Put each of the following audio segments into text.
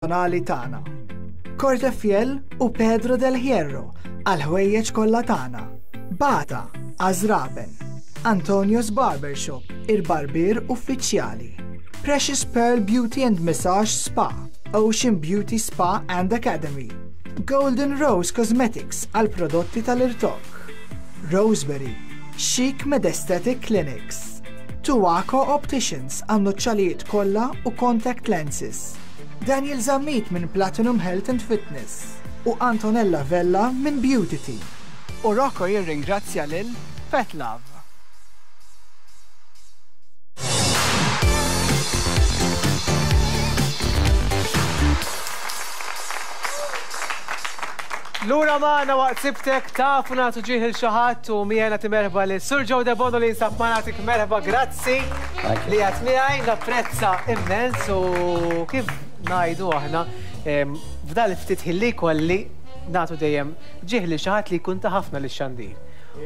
personali tagħna. Cortefiel u Pedro del Hierro għall-ħwejjeġ kollha tagħna. Bata għaż-żraben. Antonio's Barbershop, il-barbier uffiċjali. Precious Pearl Beauty and Massage Spa, Ocean Beauty Spa and Academy. Golden Rose Cosmetics għal prodotti tal-irtokk. Roseberry, Chic Med Aesthetic Clinics. Tuaco Opticians għan-nuċċalijiet kollha u contact lenses. Daniel Zammit minn Platinum Health and Fitness u Antonella Vella minn Beauty Team. U Rocco jirringrazzja lil Petlove. Lura magħna waqt sibtek tafu nagħtu ġieħ il xi ħadd u miegħi nagħti merħba lil Sur Joe Debono li jinsab magħna nagħtik merħba grazzi li qed miegħi napprezza immens u kif ngħidu aħna f'dal ftit ħin li jkolli nagħtu dejjem ġieħ lil xi ħadd li jkun ta ħafna lix-xandir.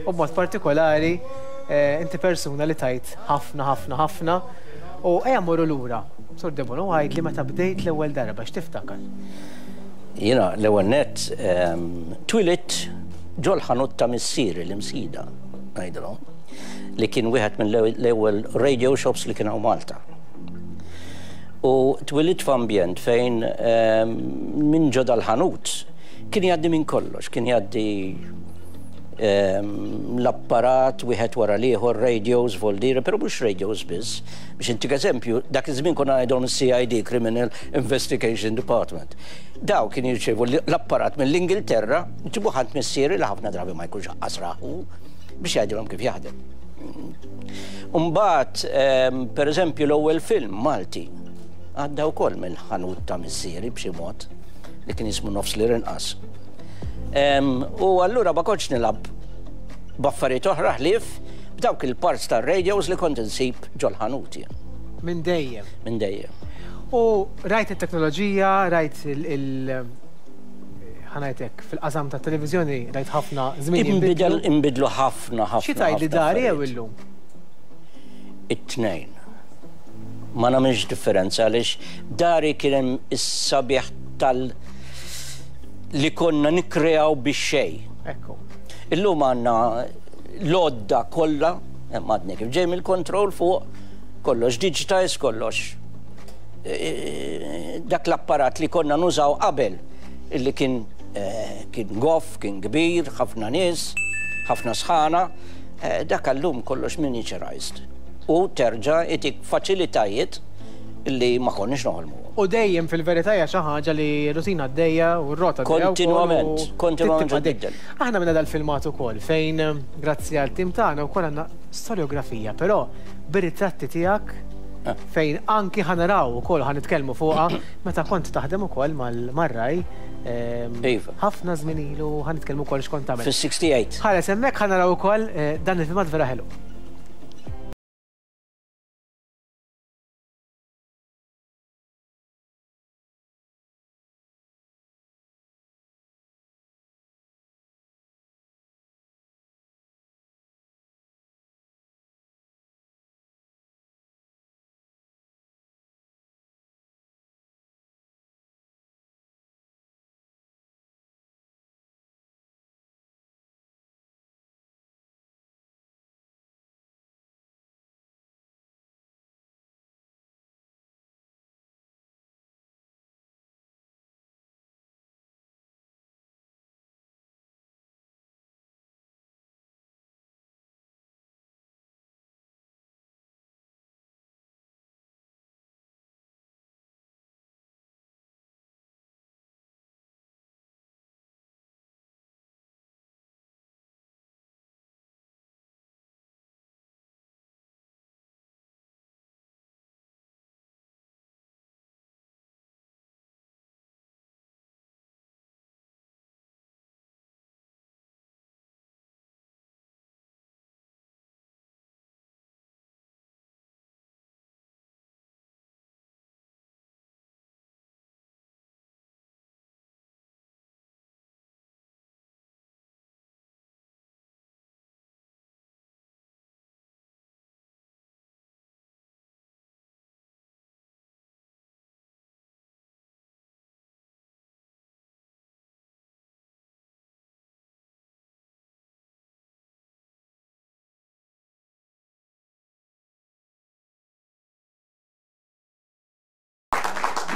U b'mod partikolari eh, inti persuna li tajt ħafna ħafna ħafna u ejja mmorru lura. Sur Debono għidli meta bdejt l-ewwel darba x'tiftakar? Jiena l-ewwel nett twilidt ġol-ħanut ta' missieri l-Imsida, ngħidilhom, li kien wieħed mill-ewwel radio shops li kien hawn Malta. U twilidt f'ambjent fejn minn ġo dal-ħanut kien jgħaddi minn kollox, kien jgħaddi l-apparat wieħed wara l-ieħor, radios, voldiri, però mhux radios biss. Biex intik eżempju, dak iż-żmien konna ngħidhom is-CID, Criminal Investigation Department. Daw kien jirċievu l-apparat mill-Ingilterra, ġibuh għand missieri li ħafna drabi ma jkunx aqqas rahu biex jgħidilhom kif jaħdem. Mbagħad, per eżempju, l-ewwel film Malti għadda wkoll mill-ħanut ta' missieri b'xi mod li kien jismu Nofs li Rinqas. U allura ma kontx nilgħab b'affarijiet oħra ħlief b'dawk il-parts tar-radios li kont insib ġol-ħanut jien. Minn dejjem. Minn dejjem. U rajt it-teknoloġija, rajt il- ħanajtek, fil-qasam ta' televiżjoni rajt ħafna żmien. Inbidel, inbidlu ħafna, ħafna. Xi tgħid li dari jew illum? It-tnejn. Ma nagħmilx differenza għaliex dari kien hemm is-sabiħ tal- li konna nikkreaw bix-xejn. Ekku. Illum għandna l-għodda kollha, hemm għadni kif ġej mill-control fuq, kollox digitized, kollox dak l-apparat li konna nużaw qabel illi kien kien goff, kien kbir, ħafna nies, ħafna sħana, dak allum kollox miniaturized. U terġa' itik faċilitajiet li ma konniex noħolmu. U dejjem fil-verità hija xi ħaġa li rutina għaddejja u r-rota għaddejja. Kontinwament, kontinwament titbiddel. Aħna minna dal-filmat ukoll fejn grazzi għal tim tagħna wkoll għandna storjografija, però bir-ritratti tiegħek ah. fejn anki ħanaraw ukoll ħa nitkellmu fuqha meta kont taħdem ukoll mar-raj. Ehm, iva. Ħafna żmien ilu ħa nitkellmu wkoll x'kont tagħmel. Fis-68. Ħares hemmhekk ħa naraw ukoll eh, dan il-filmat vera ħelu.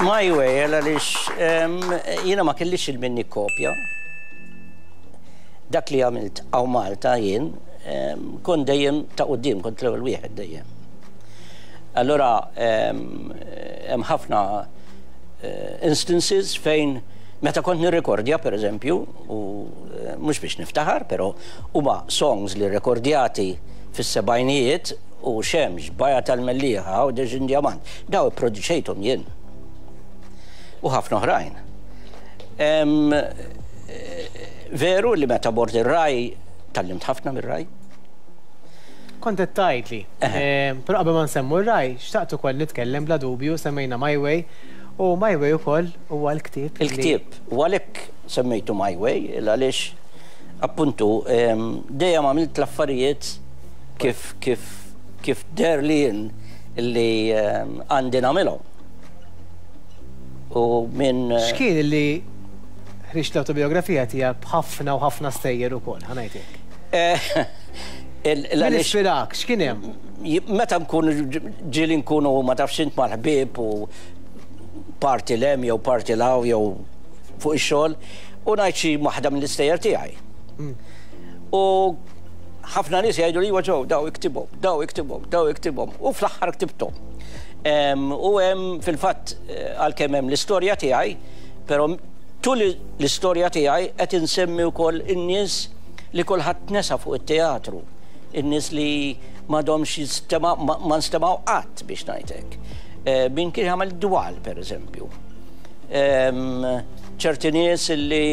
My Way għaliex jiena ma kellix il-minni kopja. Dak li għamilt hawn Malta jien kont dejjem ta' quddiem, kont l-ewwel wieħed dejjem. Allura hemm ħafna eh, instances fejn meta kont nirrekordja per eżempju, u eh, mhux biex niftaħar, però huma songs li rekordjati fis-sebgħinijiet u Xemx, Baja tal-Mellieħa, Għawdex Indjamant, daw ipproduċejthom jien. U ħafna oħrajn. Veru li meta mort ir-Rai, tgħallimt ħafna mir-Rai. Kont qed tgħidli. Però qabel ma nsemmu r-Rai, xtaqt ukoll nitkellem bla dubju, semmejna My Way, u My Way ukoll huwa l-ktieb. Il-ktieb, u għalhekk semmejtu My Way, għaliex appuntu dejjem għamilt l-affarijiet kif kif kif deherli jien li għandi nagħmilhom. U minn. X'kien li ħriġt l-awtobiografija tiegħek b'ħafna u ħafna stejjer ukoll, ħa ngħid hekk. Min ispirak, x'kien hemm? Meta nkunu ġieli nkunu ma tafx int mal-ħbieb u party 'l hemm jew party 'l hawn jew fuq ix-xogħol u ngħid xi waħda mill-istejjer tiegħi. U ħafna nies jgħidu li iwa Joe, daw iktibhom, daw iktibhom, daw iktibhom u fl-aħħar ktibthom. U hemm fil-fatt għalkemm hemm l-istorja tiegħi, però tul l-istorja tiegħi qed insemmi wkoll in-nies li kulħadd nesa fuq it-teatru, in-nies li m'għadhomx jistema' ma nstemgħu qatt biex ngħid hekk. Min kien jagħmel dwal pereżempju. Ċerti nies li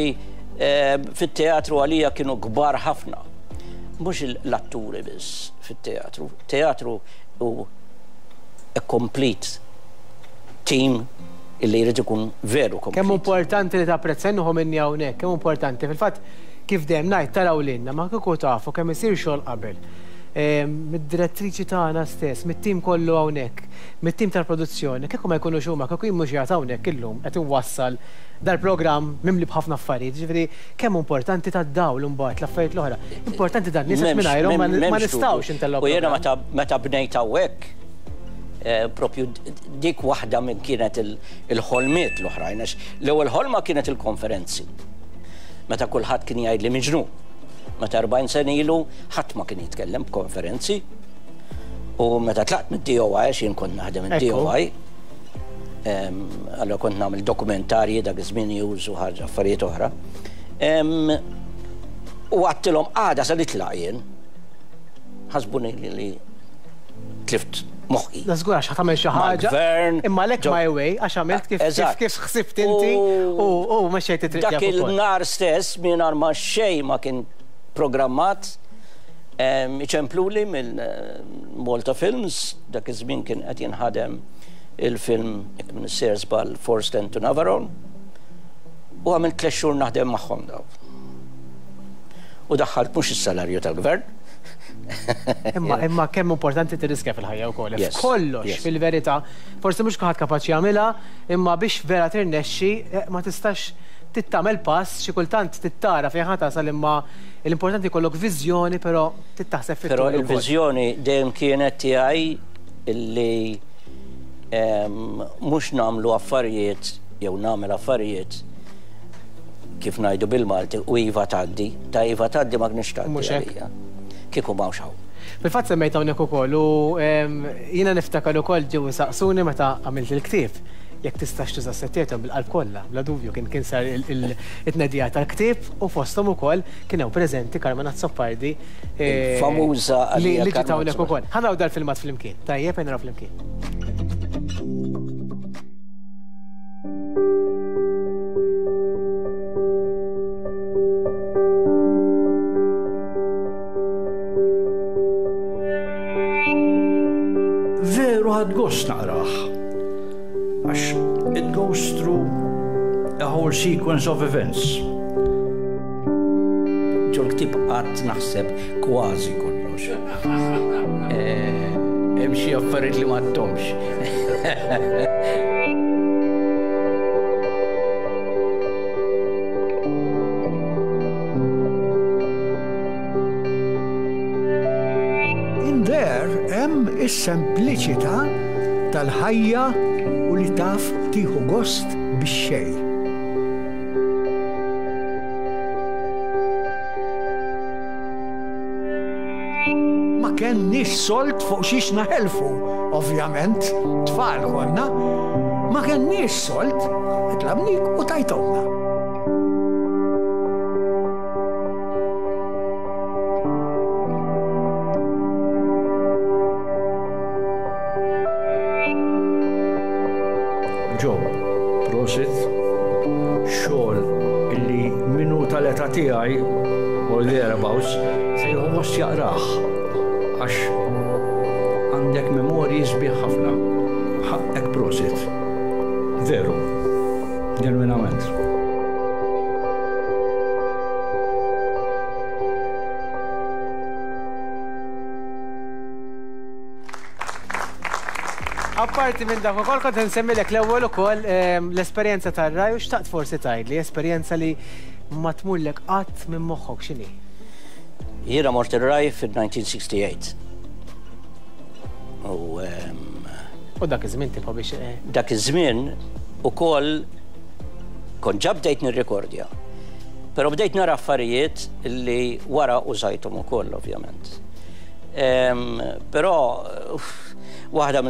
fit-teatru għalija kienu kbar ħafna. Mhux l-atturi biss fit-teatru. Teatru hu a complete team illi jrid ikun veru complete. Kemm hu importanti li tapprezza, jien nieħu minni hawnhekk, kemm hu importanti. Fil-fatt, kif dejjem ngħid, taraw lilna, ma kieku tafu kemm isir xogħol qabel. Mid-direttriċi tagħna stess, mit-tim kollu hawnhekk, mit-tim tal-produzzjoni, kieku ma jkunux huma, kieku jien mhux qiegħed hawnhekk illum qed inwassal dal-programm mimli b'ħafna affarijiet, jiġifieri kemm hu importanti tad-dawl imbagħad l-affarijiet l-oħra. Importanti dan-nies għax mingħajrhom ma nistgħux intellgħu programm. U jiena meta bnejt hawnhekk, propju dik waħda minn kienet il-ħolmiet l-oħrajn, għax l-ewwel ħolma kienet il-konferenzi. Meta kulħadd kien jgħidli miġnun. Meta 40 sena ilu ħadd ma kien jitkellem b'konferenzi. U meta tlaqt mid-DOI, għax jien kont naħdem id-DOI, Allora kont nagħmel dokumentarji dak iż-żmien news u ħaġa affarijiet oħra. U għattilhom għada se nitlaq jien. Ħasbuni li tlift moħħi. Da żgur għax tagħmel xi ħaġa. Imma lek my way għax għamilt kif kif ħsibt inti u mexxejt it-triq. Dak il-nhar stess mingħajr ma xejn ma kien programmat iċempluli mill Malta Films, dak iż-żmien kien qed jinħadem il-film, jekk m'iniex sejjer żball, Force 10 to Navarone, u għamilt tlett xhur naħdem magħhom daw. U daħħalt mhux is-salarju tal-gvern. Imma imma kemm importanti tirriskja fil-ħajja wkoll. Kollox fil-verità, forsi mhux kulħadd kapaċi jagħmilha, imma biex vera tirnexxi eh, ma tistax tittamel pass, xi kultant tittara fejn ħa tasal imma l-importanti jkollok viżjoni però trid taħseb fit-tul. Però il-viżjoni dejjem kienet tiegħi illi mhux nagħmlu affarijiet jew nagħmel affarijiet kif ngħidu bil-Malti u iva tgħaddi, ta' iva tgħaddi ma kienx tgħaddi għalija. Kieku m'hawnx hawn. Fil-fatt semmejt hawnhekk ukoll u jiena niftakar ukoll ġew isaqsuni meta għamilt il-ktieb jekk tistax tuża s-settijiet bil-qalb kollha, bla dubju kien kien sar it-tnedija tal-ktieb u fosthom ukoll kien hawn preżenti Carmen Azzopardi Il-famuża li ġiet hawnhekk ukoll. Ħa naraw dal-filmat flimkien. Tajjeb, ejja naraw flimkien. Veru ħadt gost naqrah. Għax it goes through a whole sequence of events. Ġol-ktieb qatt naħseb kważi kollox. Hemm xi affarijiet li m'għadthomx. In there hemm is-sempliċità tal-ħajja u li taf. Tieħu gost bix-xejn. Ma kenniex sold fuq xiex naħelfu, ovvjament, tfal konna. Ma kenniex sold, tlabnik u tajtomna. Joe, prosit, xogħol illi min hu tal-età tiegħi or thereabouts se jieħu gost jaqrah għax għandek memorji sbieħ ħafna. Ħaqqek prosit. Veru. Ġenwinament. Apparti minn dak ukoll kont insemmilek l-ewwel ukoll ehm, l-esperjenza tar-raj u xtaqt forsi tgħidli esperjenza li ma tmurlek qatt minn moħħok x'inhi. Jiena mort ir-raj fil-1968. U ehm, U dak iż-żmien tipo biex. Eh, dak iż-żmien ukoll kont ġa bdejt nirrekordja. Però bdejt nara affarijiet li wara użajthom ukoll ovvjament. Però waħda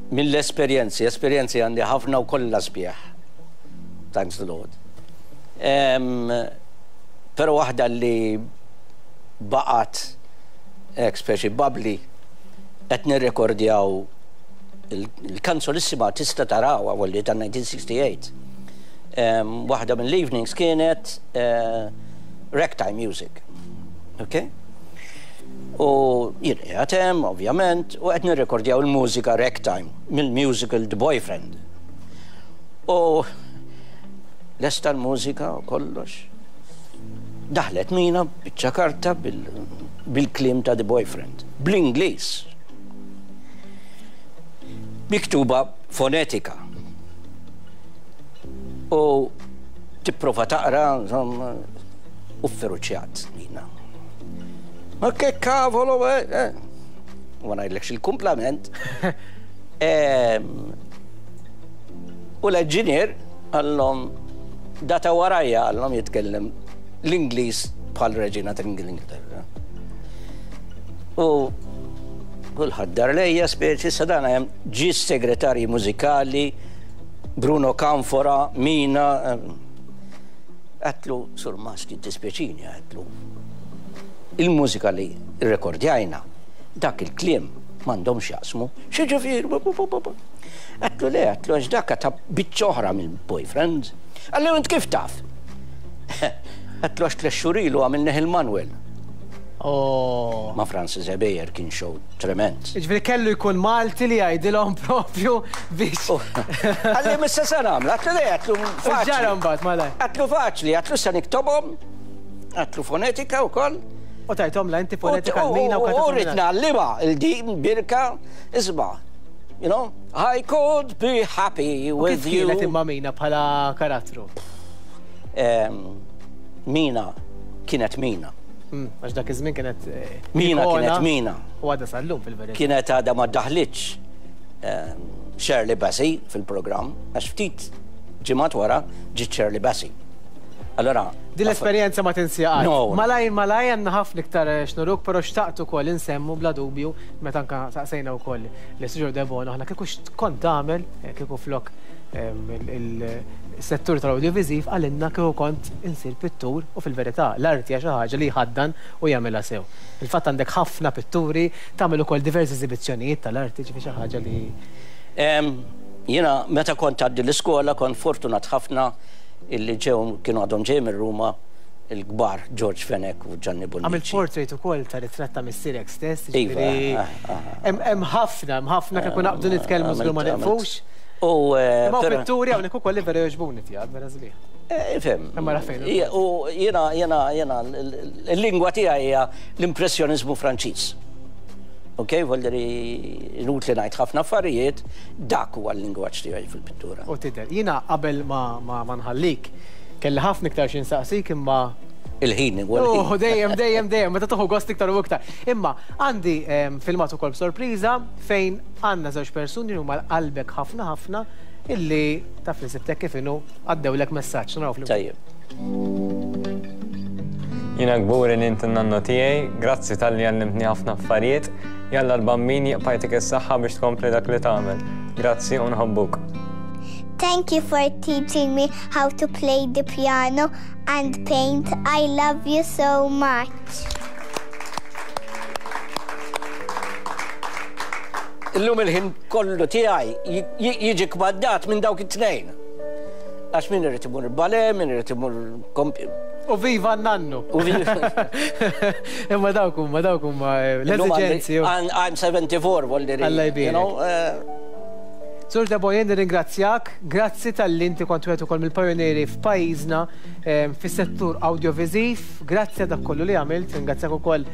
mill-esperjenzi, esperjenzi għandi ħafna u kollha sbieħ. Thanks the Lord. Però waħda li baqgħet hekk speċi bubbly qed nirrekordjaw il-kanzolissima tista' tarawha walli ta' 1968. Waħda mill-evenings kienet eh, ragtime music. Ok? U jien qiegħed hemm, ovvjament, u qed nirrekordjaw il-mużika ragtime mill-musical The Boyfriend. U lesta l-mużika u kollox. Daħlet Mina biċċa karta bil-kliem ta' The Boyfriend, bl-Ingliż. Miktuba fonetika. U tipprova taqra, insomma, u fferuċjat Nina. Ma che cavolo, eh? eh. Ma ngħidlekx il-kumplament. U l-enġinier għallhom data warajja għallhom jitkellem l-Ingliż bħal reġina tal-Ingilterra. U kulħadd dar lejja speċi sadana hemm ġie segretarji mużikali Bruno Canfora, Mina. Għedtlu, Sur Musk, jiddispjaċini, għedtlu. Il-mużika li rrekordjajna, dak il-kliem m'għandhomx jaqsmu. X'jiġifieri? Għedtlu le, għedtlu għax dak ta' biċċa oħra mill-boyfriend. Qalli int kif taf? Għedtlu għax tlett xhur ilu għamilnieh il-Manuel. Oh. Ma' Francis Ebejer kien show trement. Jiġifieri kellu jkun Malti li jgħidilhom propju biex. Oh. Qalli missa se nagħmel, għedtlu le, għedtlu faċli. Ġara mbagħad malaj. Għedtlu faċli, għedtlu se niktobhom, għedtlu fonetika wkoll. U tajthom la inti fonetika l-mina u U rrid ngħallimha il-din birka isma'. You know, I could be happy with you. Kif kienet imma Mina bħala karattru? Mina kienet Mina. Hmm, għax dak iż-żmien kienet. Eh, Mina kienet Mina. U għadha sal-lum fil-verità. Kienet għadha ma daħlitx ehm, Shirley Bassey fil-programm, għax ftit ġimgħat wara ġiet Shirley Bassey. Allora. Din l-esperjenza ma tinsija qatt. No. Malaj malaj għandna ħafna iktar eh, xnuruk, però xtaqt ukoll insemmu bla dubju meta anka saqsejna wkoll li Sir Debono aħna kieku x'kont tagħmel eh, kieku flok il-settur tal-awdjoviżiv qalilna kieku kont insir pittur u fil-verità l-arti hija xi ħaġa li jħaddan u jagħmilha sew. Fil-fatt għandek ħafna pitturi, tagħmel ukoll diversi eżibizzjonijiet tal-arti, ġifieri xi ħaġa li. Jiena meta kont għaddi l-iskola kont fortunat ħafna illi ġew kienu għadhom ġejjin minn Ruma il-kbar George Fenech u Gianni Bonnici. Għamilt portrait ukoll ta' ritratt ta' missierek stess, jiġifieri hemm ħafna, hemm ħafna kieku naqbdu nitkellmu żgur ma nieqfux. U eh, Imma pitturi hawnhekk ukoll li vera jogħġbuni tiegħek, vera sbieħ. Eh, ifhem. Imma ra fejn. U jiena jiena jiena l-lingwa tiegħi hija l-impressjoniżmu Franċiż. Ok, volderi inutli ngħid ħafna affarijiet, dak huwa l-lingwaġġ tiegħi fil-pittura. U tidher. Jiena qabel ma nħallik, kelli ħafna iktar xi nsaqsik imma Il-ħin huwa l-ħin. Oh, dejjem, dejjem, dejjem, meta toħu gost iktar u iktar. Imma għandi ehm, filmat ukoll b'sorpriża fejn għandna żewġ persuni li huma qalbek ħafna ħafna. illi taf li sibtek kif inhu għaddewlek messaġġ. Naraw flimkien. Tajjeb. Jiena kburi li int in-nannu tiegħi, grazzi talli għallimtni ħafna affarijiet, jalla l-Bambin jibqa' jtik is-saħħa biex tkompli dak li tagħmel. Grazzi u nħobbuk. Thank you for teaching me how to play the piano and paint. I love you so much. Illum il-ħin kollu tiegħi jiġi kmandat minn dawk it-tnejn. Għax min irid imur bale, min irid imur U viva n-nannu. U viva. Imma dawk huma dawk huma eh, l-eżiġenzi. I'm 74, volli. Alla jbierek. Eh. Sur Debo, jien nirringrazzjak, grazzi talli inti kont wieħed ukoll mill-pajunieri f'pajjiżna eh, fis-settur awdjoviżiv, grazzi għal dak kollu li għamilt, ringrazzjak ukoll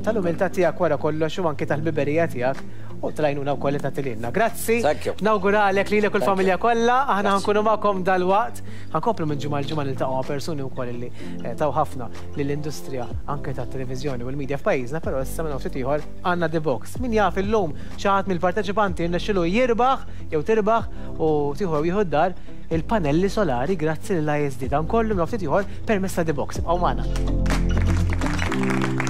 tal-umiltà tiegħek wara kollox u anke tal-ħbiberija tiegħek u tal-għajnuna wkoll li tagħti lilna. Grazzi. Nawguralek lilek u l-familja kollha, aħna ħankunu magħkom dalwaqt. Ħankomplu minn ġimgħa l-ġimgħa niltaqgħu ma' persuni wkoll li eh, taw ħafna lill-industrija anke tat-televiżjoni u l-media f'pajjiżna, però issa minn ftit ieħor għandna The Box. Min jaf illum xi ħadd mill-parteċipanti rnexxilu jirbaħ jew tirbaħ u tieħu jew jieħu d-dar il-panelli solari grazzi lill-ISD. Dan kollu minn ftit ieħor permezz ta' The Box. Ibqgħu magħna.